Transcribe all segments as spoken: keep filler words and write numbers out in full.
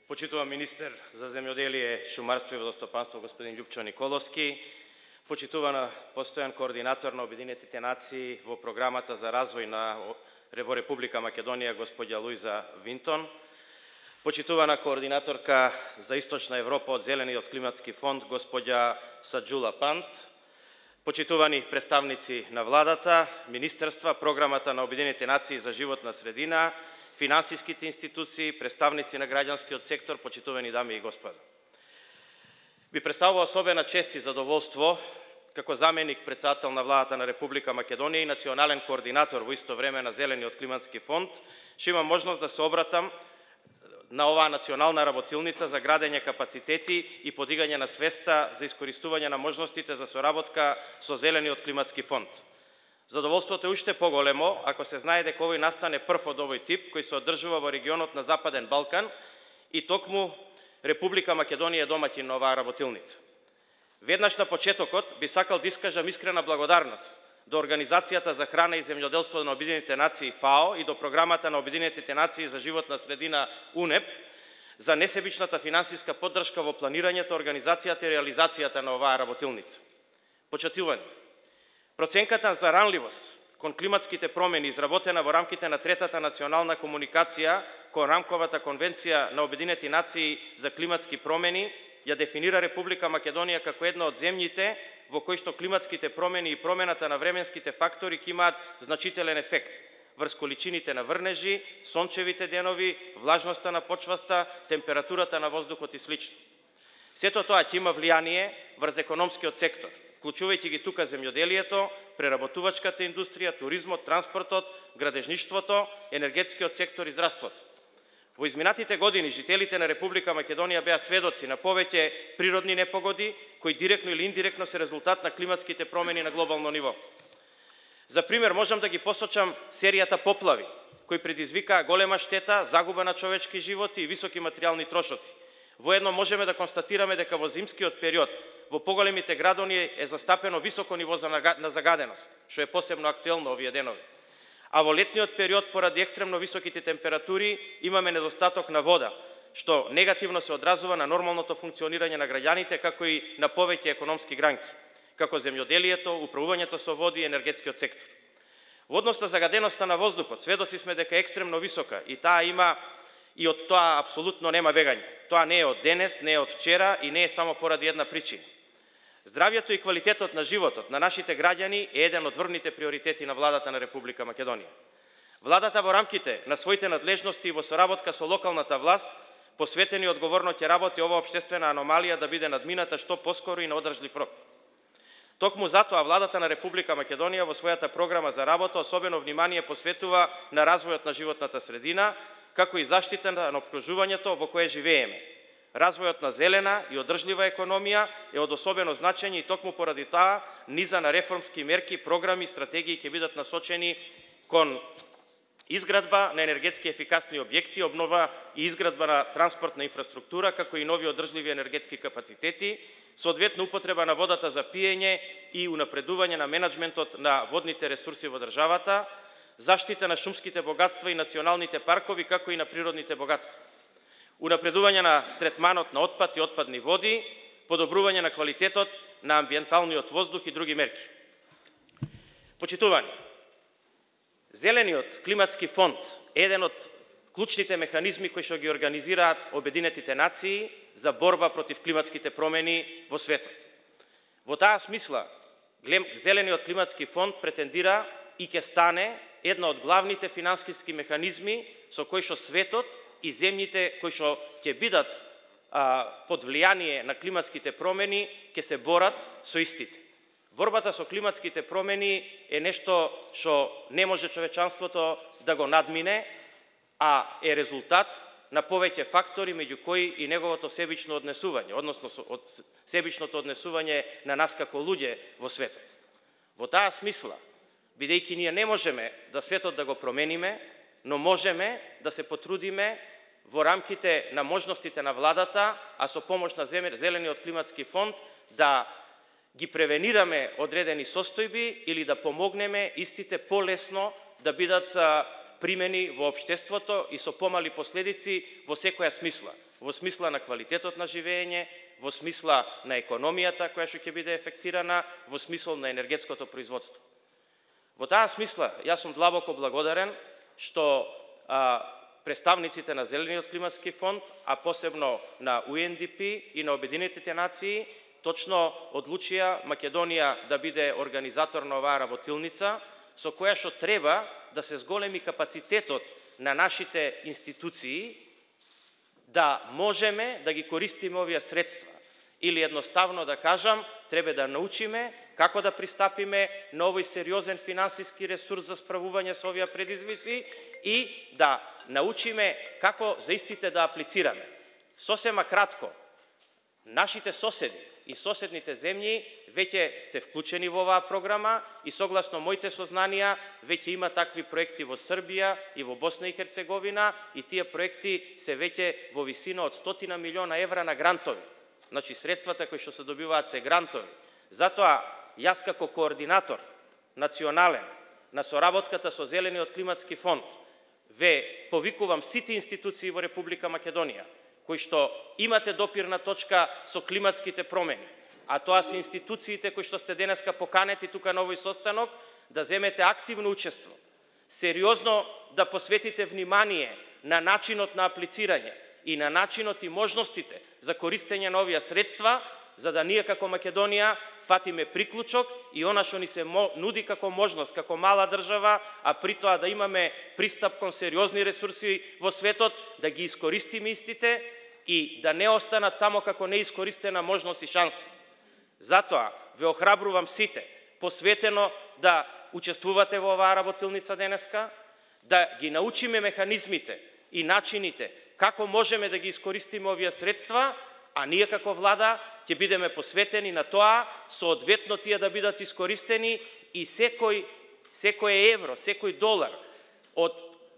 почитуван министер за земјоделие, шумарство и водостопанство господин Љупчо Николовски, почитувана постојан координатор на Обединетите нации во програмата за развој на во Република Македонија господја Луиза Винтон, почитувана координаторка за Источна Европа од Зелениот климатски фонд господја Саџула Пант, почитувани представници на владата, министерства, програмата на Обединетите нации за животна средина, финансиските институции, представници на граѓанскиот сектор, почитувани дами и господа. Би представува особена чест и задоволство како заменик председател на владата на Република Македонија и национален координатор во исто време на Зелениот климатски фонд, што имам можност да се обратам на оваа национална работилница за градење капацитети и подигање на свеста за искористување на можностите за соработка со Зелениот климатски фонд. Задоволството е уште поголемо ако се знае дека овој настане прв од овој тип кој се одржува во регионот на Западен Балкан и токму Република Македонија е домаќин на оваа работилница. Веднаш на почетокот би сакал да искажам искрена благодарност до Организацијата за храна и земјоделство на Обединетите нации ФАО и до програмата на Обединетите нации за животна средина УНЕП за несебичната финансиска поддршка во планирањето, организацијата и реализацијата на оваа работилница. Почитувани, проценката за ранливост кон климатските промени изработена во рамките на третата национална комуникација кон рамковата конвенција на Обединети нации за климатски промени ја дефинира Република Македонија како една од земјите во кои што климатските промени и промената на временските фактори ќе имаат значителен ефект врз количините на врнежи, сончевите денови, влажноста на почвата, температурата на воздухот и слично. Сето тоа ќе има влијание врз економскиот сектор, вклучувајќи ги тука земјоделието, преработувачката индустрија, туризмот, транспортот, градежништвото, енергетскиот сектор и здравството. Во изминатите години жителите на Република Македонија беа сведоци на повеќе природни непогоди кои директно или индиректно се резултат на климатските промени на глобално ниво. За пример можам да ги посочам серијата поплави кои предизвикаа голема штета, загуба на човечки животи и високи материјални трошоци. Воедно можеме да констатираме дека во зимскиот период во поголемите градови е застапено високо ниво на загаденост, што е посебно актуелно овие денови. А во летниот период, поради екстремно високите температури, имаме недостаток на вода, што негативно се одразува на нормалното функционирање на граѓаните, како и на повеќе економски гранки, како земјоделието, управувањето со води и енергетскиот сектор. Во однос на загаденоста на воздухот, сведоци сме дека е екстремно висока и таа има и од тоа апсолутно нема бегање. Тоа не е од денес, не е од вчера и не е само поради една причина. Здравјето и квалитетот на животот на нашите граѓани е еден од врвните приоритети на владата на Република Македонија. Владата во рамките на своите надлежности и во соработка со локалната власт посветени одговорно ќе работи оваа општествена аномалија да биде надмината што поскоро и на одржлив рок. Токму затоа владата на Република Македонија во својата програма за работа особено внимание посветува на развојот на животната средина, како и заштита на опкружувањето во кое живееме. Развојот на зелена и одржлива економија е од особено значење и токму поради таа низа на реформски мерки, програми и стратегии ќе бидат насочени кон изградба на енергетски ефикасни објекти, обнова и изградба на транспортна инфраструктура, како и нови одржливи енергетски капацитети, соодветно употреба на водата за пиење и унапредување на менаџментот на водните ресурси во државата, заштита на шумските богатства и националните паркови, како и на природните богатства, унапредување на третманот на отпад и отпадни води, подобрување на квалитетот на амбиенталниот воздух и други мерки. Почитувани, Зелениот климатски фонд е еден од клучните механизми кои што ги организираат Обединетите нации за борба против климатските промени во светот. Во таа смисла, Зелениот климатски фонд претендира и ќе стане една од главните финансиски механизми со кои што светот и земјите кои што ќе бидат а, под влијание на климатските промени ќе се борат со истите. Борбата со климатските промени е нешто што не може човечанството да го надмине, а е резултат на повеќе фактори, меѓу кои и неговото себично однесување, односно од себичното однесување на нас како луѓе во светот. Во таа смисла, бидејќи ние не можеме да светот да го промениме, но можеме да се потрудиме во рамките на можностите на владата, а со помош на Зелениот климатски фонд да ги превенираме одредени состојби или да помогнеме истите полесно да бидат примени во општеството и со помали последици во секоја смисла. Во смисла на квалитетот на живење, во смисла на економијата која што ќе биде ефектирана, во смисол на енергетското производство. Во таа смисла, јас сум длабоко благодарен што а, представниците на Зелениот климатски фонд, а посебно на У Ен Ди Пи и на Обединетите нации, точно одлучија Македонија да биде организатор на оваа работилница, со која што треба да се зголеми капацитетот на нашите институции, да можеме да ги користиме овие средства. Или едноставно да кажам, треба да научиме како да пристапиме на овој сериозен финансиски ресурс за справување со овие предизвици и да научиме како за истите да аплицираме. Сосема кратко, нашите соседи и соседните земји веќе се вклучени во оваа програма и согласно моите сознанија веќе има такви проекти во Србија и во Босна и Херцеговина и тие проекти се веќе во висина од стотина милиона евра на грантови. Значи средствата кои што се добиваат се грантови. Затоа јас како координатор национален на соработката со Зелениот климатски фонд ве повикувам сите институции во Република Македонија кои што имате допирна точка со климатските промени, а тоа се институциите кои што сте денеска поканети тука на овој состанок, да земете активно учество, сериозно да посветите внимание на начинот на аплицирање и на начинот и можностите за користење на овие средства, за да ние како Македонија фатиме приклучок и она што ни се нуди како можност, како мала држава, а при тоа да имаме пристап кон сериозни ресурси во светот, да ги искористиме истите и да не останат само како неискористена можност и шанса. Затоа ве охрабрувам сите посветено да учествувате во оваа работилница денеска, да ги научиме механизмите и начините како можеме да ги искористиме овие средства, а ние како влада ќе бидеме посветени на тоа соодветно тие да бидат искористени и секој секој евро, секој долар од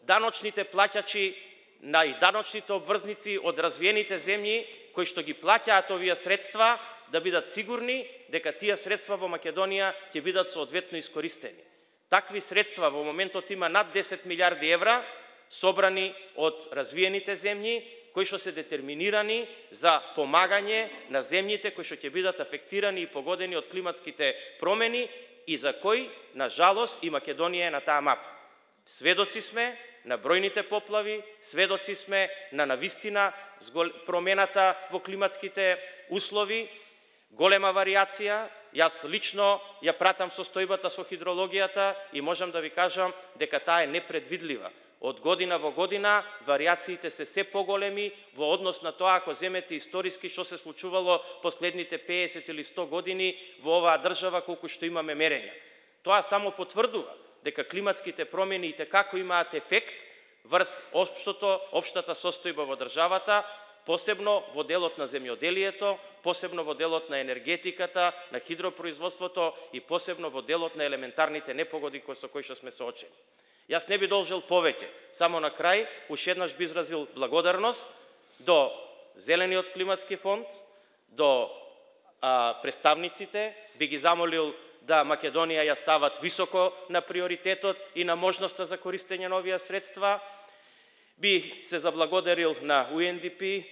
даночните плаќачи на и даночните обврзници од развиените земји кои што ги плаќаат овие средства, да бидат сигурни дека тие средства во Македонија ќе бидат соодветно искористени. Такви средства во моментот има над десет милиарди евра собрани од развиените земји кои што се детерминирани за помагање на земјите кои што ќе бидат афектирани и погодени од климатските промени и за кои, на жалост, и Македонија е на таа мапа. Сведоци сме на бројните поплави, сведоци сме на навистина промената во климатските услови, голема варијација. Јас лично ја пратам состојбата со хидрологијата и можам да ви кажам дека таа е непредвидлива. Од година во година варијациите се се поголеми во однос на тоа ако земете историски што се случувало последните песет или сто години во оваа држава колку што имаме мерења. Тоа само потврдува дека климатските промени и како имаат ефект врз општото, општата состојба во државата, посебно во делот на земјоделието, посебно во делот на енергетиката, на хидропроизводството и посебно во делот на елементарните непогоди со кои што сме соочени. Јас не би должел повеќе, само на крај, уште еднаш би изразил благодарност до Зелениот климатски фонд, до а, представниците, би ги замолил да Македонија ја стават високо на приоритетот и на можноста за користење на овие средства. Би се заблагодарил на У Ен Ди Пи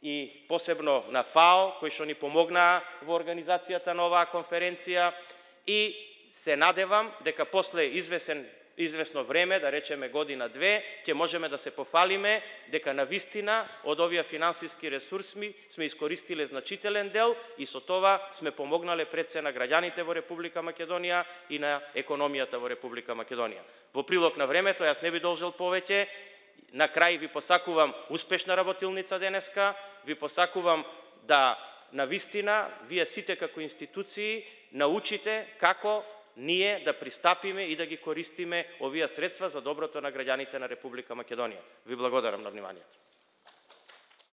и посебно на ФАО, кои што ни помогнаа во организацијата на оваа конференција и се надевам дека после извесен известно време, да речеме година-две, ќе можеме да се пофалиме дека навистина од овие финансиски ресурси сме искористиле значителен дел и со тоа сме помогнале пред се на граѓаните во Република Македонија и на економијата во Република Македонија. Во прилог на времето, јас не би должел повеќе. На крај ви посакувам успешна работилница денеска, ви посакувам да навистина вие сите како институции научите како ние да пристапиме и да ги користиме овие средства за доброто на граѓаните на Република Македонија. Ви благодарам на вниманието.